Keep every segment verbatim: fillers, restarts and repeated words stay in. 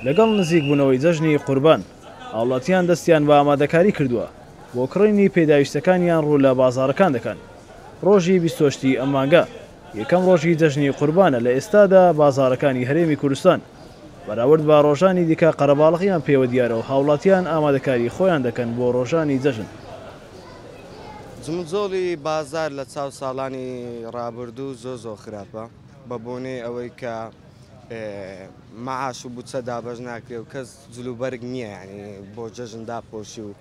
لەگەڵ نزیکبوونەوەی جەژنی قوربان هاوڵاتیان دەستیان بە ئامادەکاری کردووە بۆ کڕینی پێداویستەکانیان ڕوو لە بازاڕەکان دەکەن. ڕۆژی بیست و هەشتی ئەم مانگە یەکەم ڕۆژی جەژنی قوربانە لە ئێستادا بازاڕەکانی هەرێمی کوردستان بەراورد بە ڕۆژانی دیکە قەرەباڵغیان پێوە دیارە و هاوڵاتیان ئامادەکاری خۆیان دەکەن بۆ ڕۆژانی جەژن. جمجۆڵی بازار لە چاو ساڵانی ڕابردوو زۆر زۆر خراپە بە بۆنەی ئەوەی کە معاش و بودجە دابەش ناکرێ و کەس جلوبەرگ نییە، یعنی بۆ جەژن داپۆشی و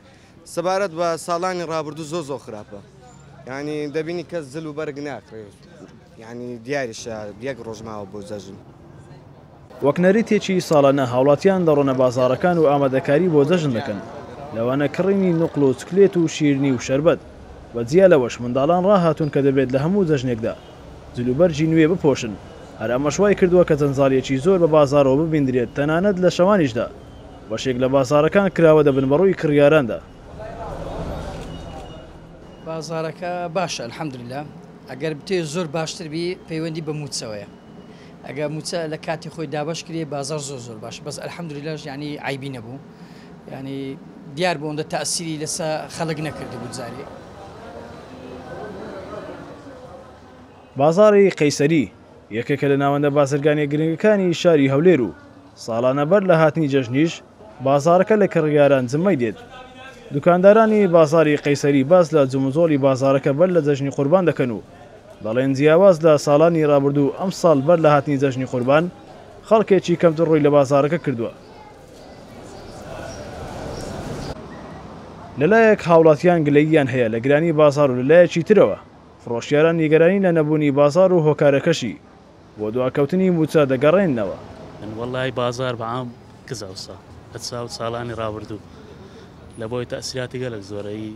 سەبارەت بە ساڵانی ڕابردوو زۆر زۆر خراپە، یعنی دەبینی کەس جلوبەرگ ناکرێت، یعنی دیاریشە یەک ڕۆژ ماوە بۆ جەژن. وەک نەریتێکی ساڵانە هاوڵاتیان دەڕۆنە بازاڕەکان و ئامادەکاری بۆ جەژن دەکەن، لەوانە کڕینی نوقڵ و چکلێت و شیرنی و شەربەت. بە جیا لەوەش منداڵان ڕاهاتوون کە دەبێت لە هەموو جەژنێکدا جلوبەرگی نوێ بپۆشن. هەر ئەمەش وای کردووە کە جەنجاڵیەکی زۆر بە بازاڕەوە ببیندرێت، تەنانەت لە شەوانیشدا بەشێک لە بازاڕەکان کراوە دەبن بەڕووی کڕیاراندا. بازارەکە باشە الحەمدلله، ئەگەر بتێ زۆر باشتر بی پەیوەندی بە موچەوەیە، ئەگەر موچە لە کاتی خۆی دابەش کرێ بازار زۆر زۆر باش، بەس الحەمدلله یعنی عیبی نەبوو، یعنی دیار بوو ئەوەندە تەئسیری لەسەر خەڵک نەکردبوو جارێ. بازاڕی قەیسەری یەکێکە لە ناوەندە بازرگانیە گرنگەکانی شاری هەولێر و ساڵانە بەر لە هاتنی جەژنیش بازارەکە لە کڕیاران جمەی دێت. دوکاندارانی بازاری قەیسەری باس لە جموجۆڵی بازارەکە بەر لە جەژنی قوربان دەکەن و دەڵێن جیاواز لە ساڵانی ڕابردوو ئەم ساڵ بەر لە هاتنی جەژنی قوربان خەڵکێکی کەمتر ڕووی لە بازارەکە کردووە. لەلایەک هاوڵاتیان گلەییان هەیە لە گرانی بازار و لەلایەکی ترەوە فرۆشیاران نیگەرانی لە نەبوونی بازار و هۆکارەکەشی بۆ دواکەوتنی موچە دەگەڕێننەوە. وەڵای بازار بەعام کزاوسا لە چاو ساڵانی ڕابردوو لە بۆی تەئسیراتی گەلک زۆرەی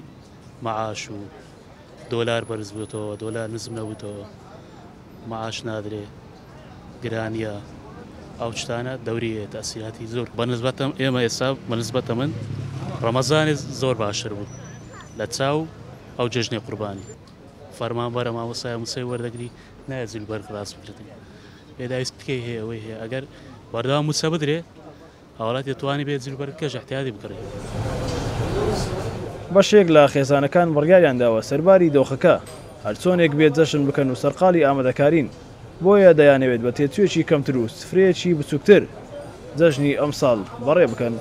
معاش و دۆلار بەرز بووتەوە، دۆلار نزم نەبووتەوە، معاش نادرێ، گرانیە، ئەو شتانە دەوریە تەئسیراتی زۆر. بەنسبەتەم ئێمە ئێستا بەنسبەتە من ڕەمەزانی زۆر باشتر بوو لە چاو ئەو جەژنی قوربانی. فەرمانبەرە مامۆستای موسەی وەردەگری نایە جلوبەرگ ڕاست بکردن، پێداویستیەکەی هەیە ئەوەی هەیە، ئەگەر بەردەوام موچە بدرێ هاوڵاتی دەتوانێت بێ جلوبەرگ کەش احتیادی بکڕێ. بەشێک لە خێزانەکان بڕیاریان داوە سەرباری دۆخەکە هەرچۆنێک بێت جەژن بکەن و سەرقاڵی ئامادەکارین، بۆیە دەیانەوێت بە تێچوویەکی کەمتر و سفرەیەکی بچووکتر جەژنی ئەمساڵ بەڕێ بکەن.